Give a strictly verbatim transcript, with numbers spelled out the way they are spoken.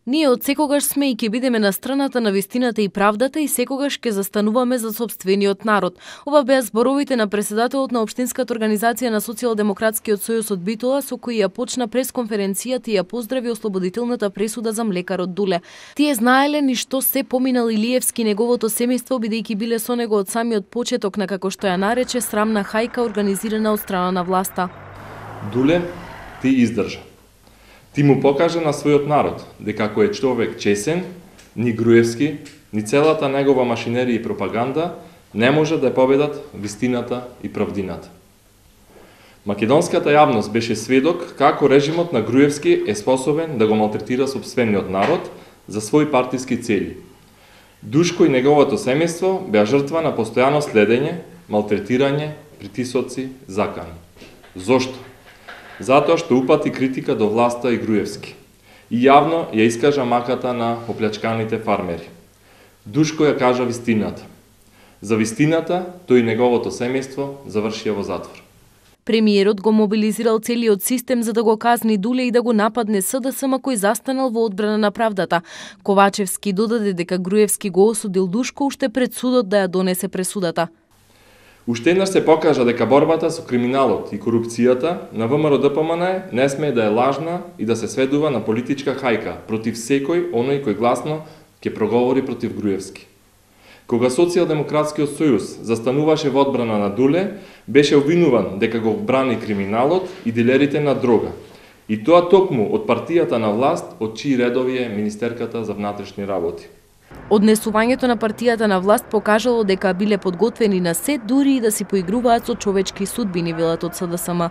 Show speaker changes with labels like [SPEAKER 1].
[SPEAKER 1] Ние од секогаш сме и ќе бидеме на страната на вистината и правдата и секогаш ќе застануваме за сопствениот народ. Ова беа зборовите на председателот на Општинската организација на Социјалдемократскиот сојуз од Битола, со кои ја почна пресконференцијата и ја поздрави ослободителната пресуда за млекарот Дуле. Тие знаеле ни што се поминал Илиевски неговото семејство, бидејќи биле со него од самиот почеток на, како што ја нарече, срамна хајка организирана од страна на власта.
[SPEAKER 2] Дуле, ти издржа. Ти му покажа на својот народ дека ако е човек чесен, ни Груевски, ни целата негова машинерија и пропаганда не може да ја победат вистината и правдината. Македонската јавност беше сведок како режимот на Груевски е способен да го малтретира сопствениот народ за своји партиски цели. Душко и неговото семејство беа жртва на постојано следење, малтретирање, притисоци, закани. Зошто? Затоа што упати критика до власта и Груевски. И јавно ја искажа маката на оплячканите фармери. Душко ја кажа вистината. За вистината, тој и неговото семејство завршија во затвор.
[SPEAKER 1] Премиерот го мобилизирал целиот систем за да го казни Дуле и да го нападне СДСМ кој застанал во одбрана на правдата. Ковачевски додаде дека Груевски го осудил Душко уште пред судот да ја донесе пресудата.
[SPEAKER 2] Уште еднаш се покажа дека борбата со криминалот и корупцијата на ВМРО-ДПМН не смее да е лажна и да се сведува на политичка хајка против секој оној кој гласно ќе проговори против Груевски. Кога Социјалдемократскиот сојуз застануваше во одбрана на Дуле, беше обвинуван дека го брани криминалот и дилерите на дрога. И тоа токму од партијата на власт, од чии редови е Министерката за внатрешни работи.
[SPEAKER 1] Однесувањето на партијата на власт покажало дека биле подготвени на се, дури и да си поигруваат со човечки судбини, велат од СДСМ.